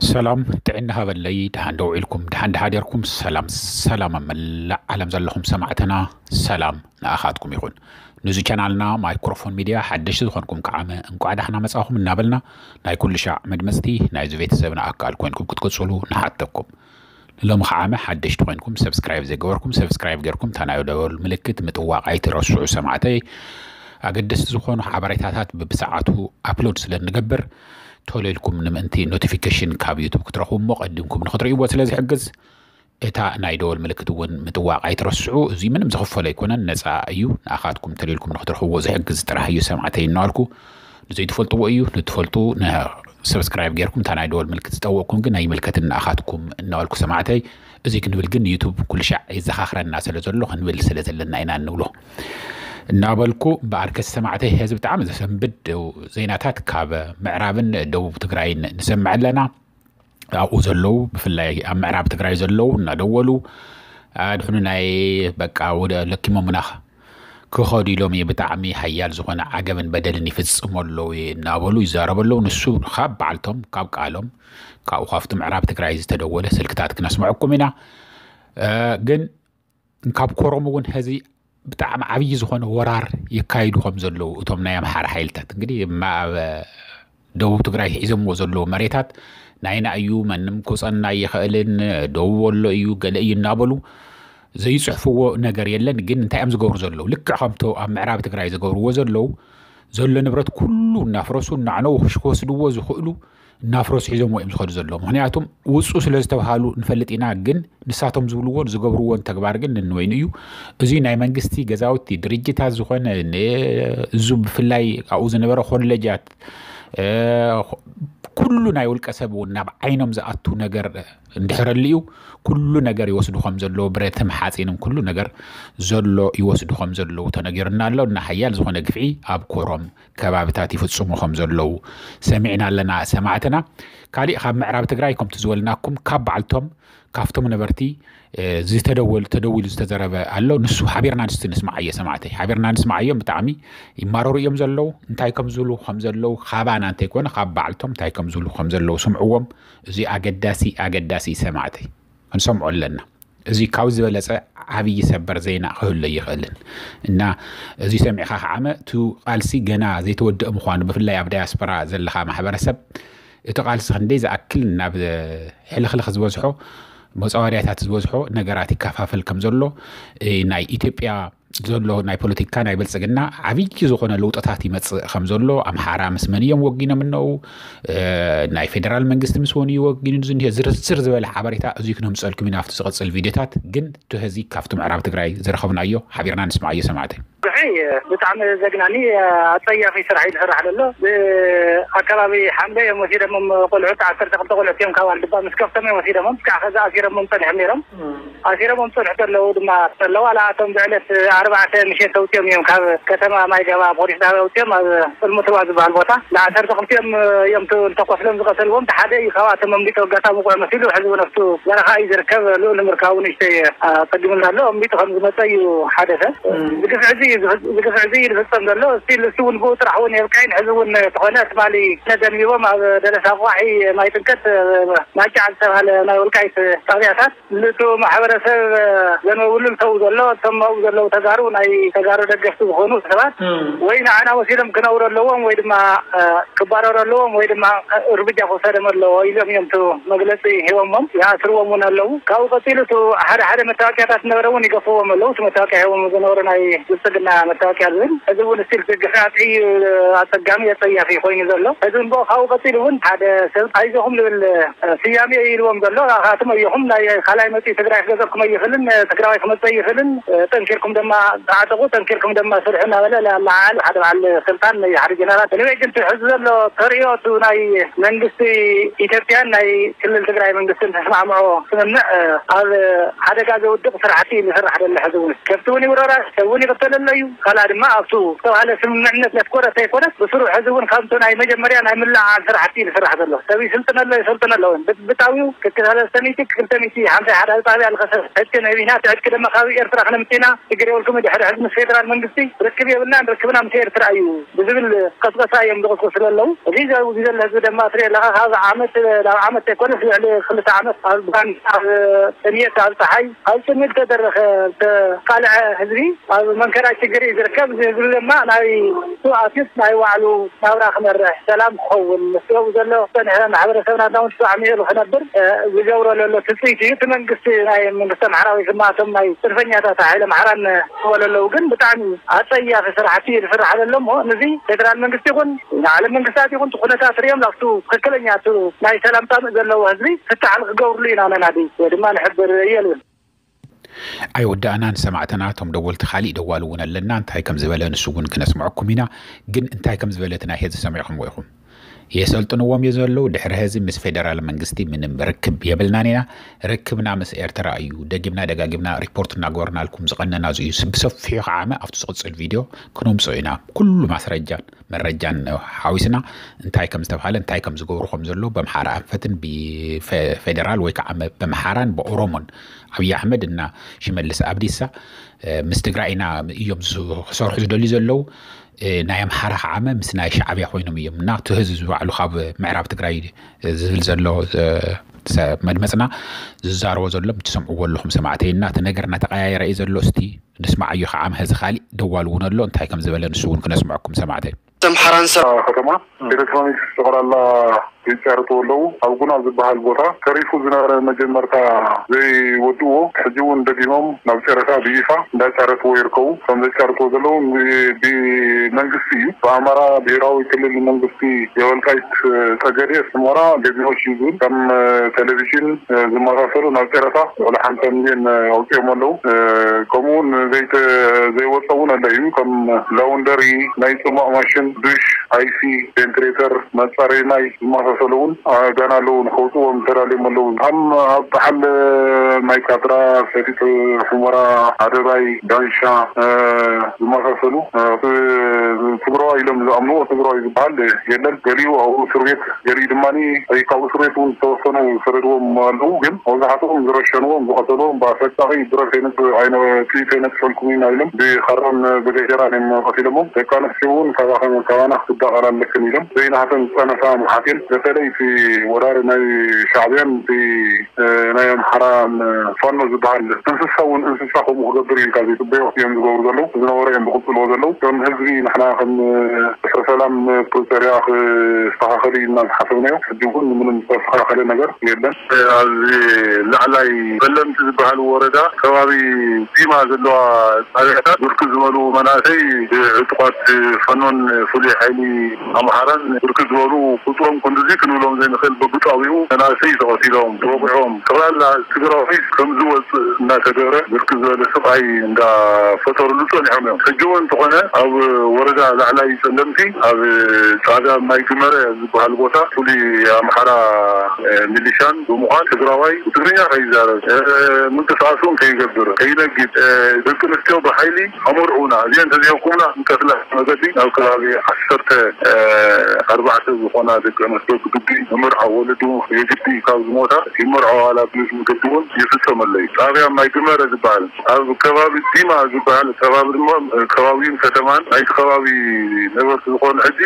ሰላም ጥዕና ሃበለይ። ደሓን ደው ኢልኩም፣ ደሓን ደሓደርኩም። ሰላም ሰላም ኣብ መላእ ዓለም ዘለኹም ሰማዕትና፣ ሰላም ንኣኻትኩም ይኹን። ንዚ ቻናልና ማይክሮፎን ሚድያ ሓደሽቲ ዝኾንኩም ከዓመ እንቋዕ ዳሕና መጻኹም እናበልና፣ ናይ ኩሉ ሻዕ መድመጽቲ ናይዚ ቤተሰብና ኣካል ኮይንኩም ክትቅጽሉ ንሓተኩም። ንሎሚ ከዓመ ሓደሽቲ ኮይንኩም፣ ሰብስክራይብ ዘይገበርኩም ሰብስክራይብ ገርኩም፣ እታ ናይ ደወል ምልክት ምጥዋቕ ኣይትረስዑ ሰማዕተይ። ኣገደስቲ ዝኾኑ ሓበሬታታት ብብሰዓቱ ኣፕሎድ ስለ እንገብር፣ ቶሎ ኢልኩም ንምእንቲ ኖቲፊኬሽን ካብ ዩቱብ ክትረኽቡ እሞ ቀዲምኩም ንክትርእይዎ ስለ ዝሕግዝ፣ እታ ናይ ደወል ምልክት እውን ምጥዋቕ ኣይትረስዑ። እዚ ምንም ዝኽፈል ኣይኮነን፣ ነፃ እዩ። ንኣኻትኩም ቶሎ ኢልኩም ንክትረኽብዎ ዝሕግዝ ጥራሕ እዩ ሰማዕተይ እናበልኩ፣ ንዘይትፈልጥዎ እዩ። ንትፈልጡ ነ-፣ ሰብስክራይብ ጌርኩም እታ ናይ ደወል ምልክት ዝጠወቕኩም ግን ኣይምልከትን ንኣኻትኩም እናበልኩ ሰማዕተይ። እዚ ክንብል ግን ዩቱብ ኩሉ ሻዕ የዘኻኽረና ስለ ዘሎ ክንብል ስለ ዘለና ኢና እንብሎ እናበልኩ፣ እምበኣርከስ ሰማዕተይ፣ ሕዚ ብጣዕሚ ዘሰንብድ ዜናታት ካብ ምዕራብን ደቡብ ትግራይን ንሰምዕ ኣለና። ኣብኡ ዘለዉ፣ ብፍላይ ኣብ ምዕራብ ትግራይ ዘለዉ እናደወሉ፣ "ኣድሕኑናይ፣ በቃ ወደ ለኪሞምና ክኸዱ ኢሎም እዩ፣ ብጣዕሚ ሓያል ዝኾነ ዓገብን በደልን ይፍጽሙ ኣለዉ" እናበሉ ይዛረቡ ኣለዉ። ንሱ ካብ በዓልቶም፣ ካብ ቃሎም፣ ካብኡ ካብቲ ምዕራብ ትግራይ ዝተደወለ ስልክታት ክነስምዐኩም ኢና። እ፣ ግን ካብ ኮረም እውን ሕዚ ብጣዕሚ ዓብዪ ዝኾነ ወራር የካይዱ ከም ዘለዉ እቶም ናይ ኣምሓራ ሓይልታት፣ እንግዲህ፣ እማ ኣብ ደቡብ ትግራይ ሒዞምዎ ዘለዉ መሬታት ናይና እዩ፣ ማንም ክውፀና ኣይኽእልን፣ ደቡብ ወሎ እዩ፣ ገለ እዩ እናበሉ ዘይፅሕፍዎ ነገር የለን። ግን እንታይ እዮም ዝገብሩ ዘለዉ? ልክዕ ከምቶ ኣብ ምዕራብ ትግራይ ዝገብርዎ ዘለዉ፣ ዘሎ ንብረት ኩሉ እናፍረሱ እናዕነዉ ክሽ-፣ ክወስድዎ ዝኽእሉ እናፍረሱ ሒዞምዎ እዮም ዝኸዱ ዘለዉ። ምኽንያቱም ውፁ ስለ ዝተብሃሉ ንፈልጥ ኢና፣ ግን ንሳቶም ዝብልዎን ዝገብርዎን ተግባር ግን ነንወይኑ እዩ። እዚ ናይ መንግስቲ ገዛውቲ፣ ድርጅታት ዝኾነ ን-፣ እዙ ብፍላይ ኣብኡ ዝነበረ ኮሌጃት፣ እ፣ ኩሉ ናይ ውልቀ ሰብ እውን ናብ ዓይኖም ዝኣቱ ነገር እንድሕር ኣልዩ፣ ኩሉ ነገር ይወስዱ ከም ዘለዉ፣ ብረትም ሓፂንም ኩሉ ነገር ዘሎ ይወስዱ ከም ዘለዉ ተነጊሩና ኣሎ። እና ሓያል ዝኾነ ግፍዒ ኣብ ኮሮም ከባብታት ይፍጽሙ ከም ዘለዉ ሰሚዕና ኣለና ሰማዕትና። ካሊእ ካብ ምዕራብ ትግራይ ከምቲ ዝበልናኩም ካብ በዓልቶም ካብቶም ነበርቲ፣ እ፣ ዝተደወል-፣ ተደዊሉ ዝተዘረበ ኣሎ። ንሱ ሓቢርና ንስቲ ንስማዓዮ ሰማዕተይ፣ ሓቢርና ንስማዓዮም። ብጣዕሚ ይማረሩ እዮም ዘለዉ። እንታይ ከም ዝብሉ ከም ዘለዉ ካባና እንተይኮነ ካብ በዓልቶም እንታይ ከም ዝብሉ ከም ዘለዉ ስምዕዎም። እዚ ኣገዳሲ፣ ኣገዳሲ ሰማዕተይ ክንሰምዖ ኣለና። እዚ ካብ ዝበለጸ ዓብዪ ሰበር ዜና ክህሉ ኣይኽእልን። እና እዚ ሰሚዕኻ ከዓመ፣ እቲ ቃልሲ ገና ዘይተወደአ ምዃኑ፣ ብፍላይ ኣብ ዳያስፖራ ዘለኻ ማሕበረሰብ፣ እቲ ቃልሲ ክንደይ ዝኣክል ናብ ሕልኽልኽ ዝበዝሖ፣ መጻወድያታት ዝበዝሖ ነገራት ይከፋፈል ከም ዘሎ፣ እ፣ ናይ ኢትዮጵያ ዘሎ ናይ ፖለቲካ ናይ ብልጽግና ዓብዪ ዝኾነ ለውጥታት ይመጽእ ከም ዘሎ፣ ኣምሓራ ምስ መን እዮም ወጊኖም እነው፣ እ፣ ናይ ፌደራል መንግስቲ ምስ መን እዩ ወጊኑ ዝኒሀ፣ ዝርዝር ዝበለ ሓበሬታ እዚ ክነምጸልኩም ኢና ኣብቲ ዝቕጽል ቪድዮታት። ግን እቲ ሕዚ ካብቲ ምዕራብ ትግራይ ዝረኸብናዮ ሓቢርና ንስማዓዮ ሰማዕተይ። ብሕይ ብጣዕሚ ዘግናኒ ኣጸያፊ ስራሕ እዩ ዝስራሕ ዘሎ። ብኣከባቢ ሓምለ እዮም ወሲዶሞም ቆልዑት፣ ዓሰርተ ክልተ ቆልዑት እዮም ካብ ኣልድባ ምስ ከፍቶም እዮም ወሲዶሞም። እስካዕ ከዚ ኣሲሮሞም ጸኒሖም ነይሮም። ኣሲሮሞም ጸንሑ ዘለዉ ድማ ዘለዉ፣ ዋላ ኣቶም ብዕለት ኣርባዕተ ምሸት ተውፅኦም እዮም ካብ ከተማ ማይ ገባ ፖሊስ ጣብያ ኣውፅኦም ኣብ ፅልሙትባ ዝበሃል ቦታ ንዓሰርተ ክልቲኦም እዮም ተ-፣ ተኮስሎም ዝቐተልዎም። ሓደ እዩ ካብኣቶም ኣምሊጡ፣ ኣጋጣሚ ውቑዕ መሲሉ፣ ሕዚ እውን ኣብቱ በረኻ እዩ ዝርከብ። ልኡል ንምርካቡ ንእሽተይ ኣፀጊሙና ኣሎ። ኣምሊጡ ከም ዝመፀ እዩ ሓደ ሰብ። እዚ ግፍዒ እዚ እዩ ዝፍ-፣ እዚ ግፍዒ እዚ እዩ ዝፍፀም ዘሎ። እስቲል እሱ እውን ብኡ ጥራሕ እውን የብቅዕን። ሕዚ እውን ተኾነ ትማሊ ነደንቢቦም ኣብ ደለሳ ቋሒ ማይ ጥንቀት ማጫዕ ዝተባሃለ ናይ ወልቃይት ጣብያታት ንቱ ማሕበረሰብ ዘንበብሉ ዝሰው ዘሎ፣ እቶም ኣብኡ ዘለዉ ተጋሩ፣ ናይ ተጋሩ ደገፍቲ ዝኾኑ ሰባት ወይ ንዓና ወሲዶም ክነብሩ ኣለዎም ወይ ድማ፣ እ፣ ክባረሩ ኣለዎም ወይ ድማ እርምጃ ክወሰደም ኣለዎ ኢሎም እዮም እቲ መግለፂ ሂቦሞም። ይኣስርዎም እውን ኣለዉ። ካብኡ ቀፂሉ እቱ ሓደ ሓደ መታወቂያታት ዝነበረ እውን ይገፍዎም ኣለዉ። እቲ መታወቂያ ሂቦም ዝነበሩ ናይ ብልፅግና መታወቂያ ዝብል፣ እዚ እውን ስቲል ግፍዒ ኣፀጋሚ ኣፀያፊ ኮይኑ ዘሎ። እዚ እውን ብኡ ካብኡ ቀፂሉ እውን ሓደ ሰብ ኣይዞኹም ዝብል ስያሜ እዩ ኢልዎም ዘሎ። ኣኻትም ኣየኹም ናይ ካልኣይ መፂኡ ትግራይ ክገዘኩም ኣይኽእልን፣ ትግራዋይ ክመፅእ ኣይኽእልን፣ ጠንኪርኩም ድማ ተዓጠቑ፣ ጠንኪርኩም ድማ ስርሑ እናበለ ለዓሉ ሓደ በዓል ስልጣን፣ ሓደ ጀነራል። Anyway ግን እቲ ሕዚ ዘሎ ተርእዮ እቲ ናይ መንግስቲ ኢትዮጵያን ናይ ክልል ትግራይ መንግስትን ተስማዕምዖ ስምምዕ ኣብ ሓደጋ ዘውድቕ ስራሕቲ እዩ ዝስራሕ ዘሎ። ሕዚ እውን ከብቲ እውን ይውረራ፣ ሰብ እውን ይቕተል ኣሎ። እዩ። ካልኣ ድማ ኣብቱ ዝተባህለ ስምምዕነት ዘትኮረ ዘይኮነስ ብስሩ ሕዚ እውን ካብቲ ናይ መጀመርያ ናይ ምልዕዓል ስራሕቲ እዩ ዝስራሕ ዘሎ። ሰብ ይስልጥን ኣሎ፣ ይሰልጥን ኣሎ እውን ብጥብጣዊው ክልተ ሰለስተ ሚእቲ ክልተ ሚእቲ ሓምሳ ሓደ ጣብያ ልኸሰብ ዕጥቂ ነቢና እቲ ዕጥቂ ድማ ካብ ኤርትራ ክነምፅና ሽግር የብልኩም፣ ድሕሪ ሕዚ ምስ ፌደራል መንግስቲ ርክብ የብልናን፣ ርክብና ምስ ኤርትራ እዩ ብዝብል ቀስቀሳ እዮም ዝቕስቁሱ ዘለዉ። እዚ ዘውዚ ዘሎ ህዝቢ ድማ ትሪኦ ኣለኻ። ካብ ዓመት ናብ ዓመት ዘይኮነስ ልዕሊ ክልተ ዓመት ኣብ ባን ኣብ ጥምየት ኣብ ፀሓይ ኣብ ፅምድ ተደረኸ ዝተቃልዐ ህዝቢ ኣብ መንከራ ችግር እዩ ዝርከብ። እዚ ህዝቢ ድማ ናይ ስዋኣትስ ናይ ባዕሉ ናብራ ክመርሕ ሰላም ክኸውን ምስኡ ዘሎ ዝፀንሐ ማሕበረሰብና እውን ተስማዕሚዑ ክነብር ዝገብሮ ዘሎ ትፅቢት እዩ። እቲ መንግስቲ ናይ መንግስቲ ኣምሓራ ወይ ድማ እቶም ናይ ፅንፈኛታት ሓይሊ ኣምሓራን ዝበሉ ኣለዉ። ግን ብጣዕሚ ኣፀያፊ ስራሕቲ እዩ ዝስራሕ ዘሎ እሞ ንዚ ፌደራል መንግስቲ ይኹን ንዓለም መንግስታት ይኹን እቲ ኩነታት ሪኦም ናብቱ ትክክለኛ እቱ ናይ ሰላም ፃምእ ዘለዎ ህዝቢ ፍታሕ ንክገብርሉ ኢና ነናዲ ወይ ድማ ንሕብር እየ ልብል። ኣይወዳእናን ሰማዕተና፣ እቶም ደወልቲ ካሊእ ደዋሊ እውን ኣለና፣ እንታይ ከም ዝበለ ንሱ እውን ክነስምዐኩም ኢና። ግን እንታይ ከም ዝበለ እቲ ናይ ሄዚ ሰሚዕኹምዎ ኢኹም። የሰልጥንዎም እየ ዘለዉ፣ ድሕሪ ሄዚ ምስ ፌደራል መንግስቲ ምንም ርክብ የብልናን ኢና፣ ርክብና ምስ ኤርትራ እዩ፣ ደጊምና ደጋጊምና ሪፖርት እናገበርናልኩም ዝቐነና እዚ እዩ። ብሰፊሑ ከዓመ ኣብቲ ዝቕፅል ቪድዮ ክነምፅኦ ኢና፣ ኩሉ ማስረጃን መረጃን ሓዊስና እንታይ ከም ዝተባሃለ እንታይ ከም ዝገብሩ ከም ዘሎ በምሓራ ኣንፈትን ብፌደራል ወይ ከዓ በምሓራን ብኦሮሞን ኣብይ ኣሕመድ እና ሽመልስ ኣብዲሳ ምስ ትግራይ ኢና እዮም ክሰርሑ ዝደልዩ ዘለዉ። ናይ ኣምሓራ ከዓመ ምስ ናይ ሻዕብያ ኮይኖም እዮም እና እቲ ህዝቢ ባዕሉ ካብ ምዕራብ ትግራይ ዝብል ዘሎ መድመፅና ዝዛረቦ ዘሎ ትሰምዕዎ ኣለኹም ሰማዕተይ እና እቲ ነገር እናተቀያየረ እዩ ዘሎ። እስቲ ንስማዓዮ ከዓመ ህዚ ካሊእ ደዋል እውን ኣሎ እንታይ ከም ዝበለ ንሱ እውን ክነስምዐኩም ሰማዕተይ። ኣምሓራን ሰ ከተማ ኤሌክትሮኒክስ ጠቕላላ ይጫረትዎ ኣለዉ። ኣብ ጉና ዝበሃል ቦታ ተሪፉ ዝነበረ መጀመርታ ዘይወድእዎ ሕጂ እውን ደጊሞም ናብ ጨረታ ብይፋ እንዳጫረትዎ ይርከቡ። ከም ዘጫረትዎ ዘለዉ ብመንግስቲ እዩ። ብኣማራ ብሄራዊ ክልል መንግስቲ የወልቃይት ጸገዴ፣ ሑመራ ገቢዎች እዩ ዝብል ከም ቴሌቪዥን ዝመሳሰሉ ናብ ጨረታ ልዕሊ ሓምሳ ሚልዮን ኣውፂኦም ኣለዉ። ከምኡ እውን ዘይተ ዘይወፀ እውን ኣሎ እዩ። ከም ላውንደሪ፣ ናይ ፅማቕ ማሽን፣ ዱሽ፣ ኣይሲ፣ ቬንትሬተር፣ መፃረይ ማይ ዝመሳሰሉ እውን ገና ኣለዉ። ንከውፅዎም ተዳልዮም ኣለዉ። ከም ኣብ በዓል ማይ ካድራ፣ ሰቲት ሑመራ፣ ኣደባይ፣ ዳንሻ ዝመሳሰሉ ትግራዋይ ኢሎም ዝኣምንዎ ትግራዋይ ዝበሃል የለን። ገሊኡ ኣብኡ እስር ቤት ገሊኡ ድማ ወይ ካብ እስር ቤት እውን ዝተወሰኑ ዝሰደድዎም ኣለዉ። ግን መብዛሕትኦም ዝረሸንዎም ዝቐተልዎም ብኣሰቃቒ ብረት ኣይነ- ጥይት ኣይነጥፈልኩም ኢና ኢሎም ብኻራን ብገጀራን እዮም ቀቲሎሞም። ደቂ ኣንስትዮ እውን ካባኸ- ካባና ክትዳቐላ ኣለክን ኢሎም ዘይናተን ዝፀነሳ ምሓቴን በተለይ እቲ ወራሪ ናይ ሻዕብያን እቲ ናይ ኣምሓራ ፋኖ ዝበሃል እንስሳ እውን እንስሳ ከምኡ ክገብር ኢልካ ዘይፅበዮ እዮም ዝገብሩ ዘለዉ። ዝነበረ እዮም ዝቕፅልዎ ዘለዉ። ከም ህዝቢ ንሕና ከም ድሕሪ ሰላም ፕሪቶርያ ክስተኻኸል እዩ ኢልና ዝሓሰብናዮ ሕጂ እውን ምንም ዝተስተኻኸለ ነገር የለን። ኣብዚ ላዕላይ በለምቲ ዝበሃል ወረዳ ከባቢ ዲማ ዘለዋ ጣብያታት ብርክት ዝበሉ መናእሰይ ዕጡቓት ፋኖን ፍሉይ ሓይሊ ኣምሓራን ብርክት ዝበሉ ቁፅሮም ክንድዚ ክንብሎም ዘይንኽእል በብጣቢኡ መናእሰይ ተቐቲሎም ተወቂዖም ጠቕላላ ትግራዋይ ከም ዝወፅእ እናተገብረ ብርክት ዝበለ ስቓይ እንዳፈጠሩሉ ፀኒሖም እዮም። ሕጂ እውን እንተኾነ ኣብ ወረዳ ላዕላይ ፀለምቲ ኣብ ጣብያ ማይ ግመረ ዝበሃል ቦታ ፍሉይ ኣምሓራ ሚሊሻን ብምዃን ትግራዋይ ብትግርኛ ከይዛረብ ምንቅስቃስ እውን ከይገብር ከይነግድ ደቂ ኣንስትዮ ብሓይሊ ኣመርዑና እዚአን ተዘይብኩምና ንቀትላ መገዲ ናብ ከባቢ ዓሰርተ ኣርባዕተ ዝኾና ደቂ ኣንስትዮ ብግዲ ዝመርዓ ወለዲ እውን የግዲ ካብ ዝሞታ ይመርዖ ዋላ ብዝብል መገዲ እውን ይፍፀመለይ። ጣብያ ማይ ግመረ ዝበሃል ኣብ ከባቢ ዲማ ዝበሃል ከባቢ ድማ ከባቢን ከተማን ናይቲ ከባቢ ነበርቲ ዝኾኑ ሕጂ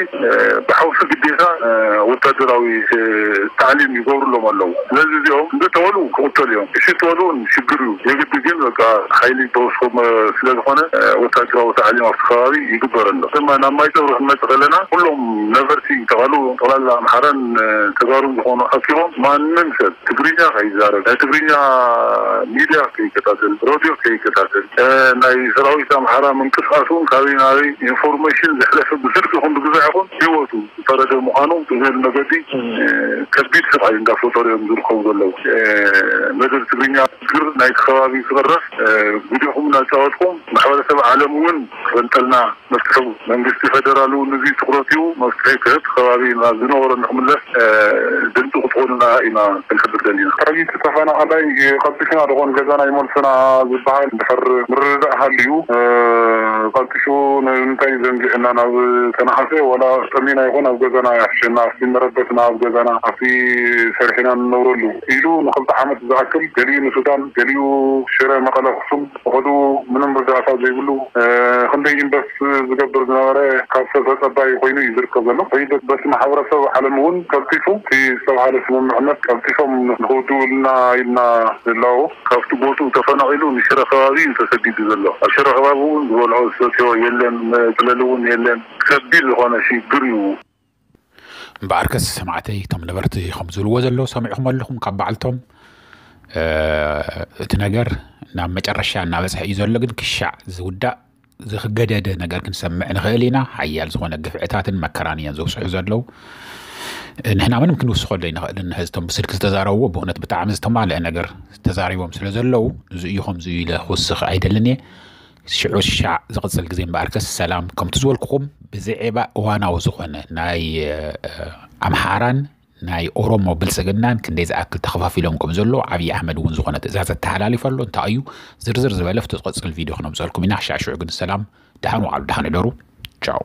ብሓውሲ ግዴታ ወታደራዊ ታዕሊም ይገብሩሎም ኣለዉ። ስለዚ እዚኦም እንተተወሉ ክቕተሉ እዮም። እሺ ተወሉ እውን ሽግር እዩ። የግዲ ግን በቃ ሓይሊ ተወስኮ ስለዝኾነ ወታደራዊ ታዕሊም ኣብቲ ከባቢ ይግበር ኣሎ። ድማ ናብ ማይ ፀብሪ ክንመፅእ ከለና ኩሎም ነበርቲ ተቐሉ ጠቕላላ ኣምሓራን ተጋሩን ዝኾኑ ኣኪቦም ማንም ሰብ ትግርኛ ከይዛረብ ናይ ትግርኛ ሚድያ ከይከታተል ሮድዮ ከይከታተል ናይ ሰራዊት ኣምሓራ ምንቅስቃስ እውን ካበይ ናበይ ኢንፎርሜሽን ዘሕለፈ ብስልኪ ይኹን ብግዛዕ ይኹን ህይወቱ ዝፈረደ ምዃኑ ብዝብል መገዲ ከቢድ ስቃይ እንዳፈጠሩ እዮም ዝርከቡ ዘለዉ። መደብ ትግርኛ ችግር ናይቲ ከባቢ ክቕረፍ ግዲኹም እናተፃወትኩም ማሕበረሰብ ዓለም እውን ክፈልጠልና መፍትሒ መንግስቲ ፌደራል እውን ንዙይ ትኩረት ሂቡ መፍትሒ ክህብ ከባቢ ናብ ዝነበሮ ንክምለስ ድምፂ ክትኾኑና ኢና ክንሕብር ደሊና። ሕዚ ተፈናቐላይ ቀልጢፍና ዝኾን ገዛና ይመልሱና ዝበሃል እንድሕር ምርድዳእ ሃልዩ ቀልጢፉ ንምንታይ ዘንጊዕና ናብ ተነሓሰ ዋላ ጠሚና ይኹን ኣብ ገዛና ይሕሸና ኣብቲ መረበትና ኣብ ገዛና ኣብቲ ሰሪሕና ንነብረሉ ኢሉ ንክልተ ዓመት ዝኣክል ገሊኡ ንሱዳን ገሊኡ ሽረ መቐለ ኣክሱም ፈቐዱ ምንም ርዳእታ ዘይብሉ ክንደይ ኢንቨስት ዝገብር ዝነበረ ካብ ሰብ ተፀባይ ኮይኑ እዩ ዝርከብ ዘሎ። በቲ ማሕበረሰብ ዓለም እውን ቀልጢፉ እቲ ዝተባሃለ ስምምዕነት ቀልጢፎም ንክውድውልና ኢልና ንላቦ። ካብቲ ቦትኡ ተፈናቒሉ ንሽረ ከባቢ እዩ ተሰዲዱ ዘሎ። ኣብ ሽረ ከባቢ እውን ዝበልዖ ዝሰትዮ የለን፣ መፅለሊ እውን የለን። ከቢድ ዝኾነ ሽግር እዩ። እምበኣርከስ ሰማዕተይ እቶም ነበርቲ ከም ዝብልዎ ዘለዉ ሰሚዕኹም ኣለኹም ካብ በዓልቶም እቲ ነገር ናብ መጨረሻ እናበፅሐ እዩ ዘሎ። ግን ክሻዕ ዝውዳእ ዝክገደደ ነገር ክንሰምዕ ንኽእል ኢና። ሓያል ዝኾነ ግፍዕታትን መከራን እዮም ዘብፅሑ ዘለዉ። ንሕና ምንም ክንውስኸሉ ኣይንኽእልን። ሕዝቶም ብስልኪ ዝተዛረብዎ ብእውነት ብጣዕሚ ዝተማልአ ነገር ተዛሪቦም ስለ ዘለዉ እዚ እዩ ከምዚ ኢለ ክውስኽ ኣይደልን እየ። ሽዑ ሻዕ ዝቕፅል ግዜ እምበኣርከስ ሰላም ከምቲ ዝበልኩኹም ብዝዔባ እዋናዊ ዝኾነ ናይ ኣምሓራን ናይ ኦሮሞ ብልፅግናን ክንደይ ዝኣክል ተኸፋፊሎም ከም ዘሎ ኣብዪ ኣሕመድ እውን ዝኾነ ትእዛዝ ኣተሓላሊፈ ኣሎ። እንታይ እዩ ዝርዝር ዝበለ ኣብቲ ዝቕፅል ቪድዮ ክነምፀልኩም ኢና። ሻዕ ሽዑ ግን ሰላም፣ ደሓን ዋዕሉ፣ ደሓን እደሩ። ቻው።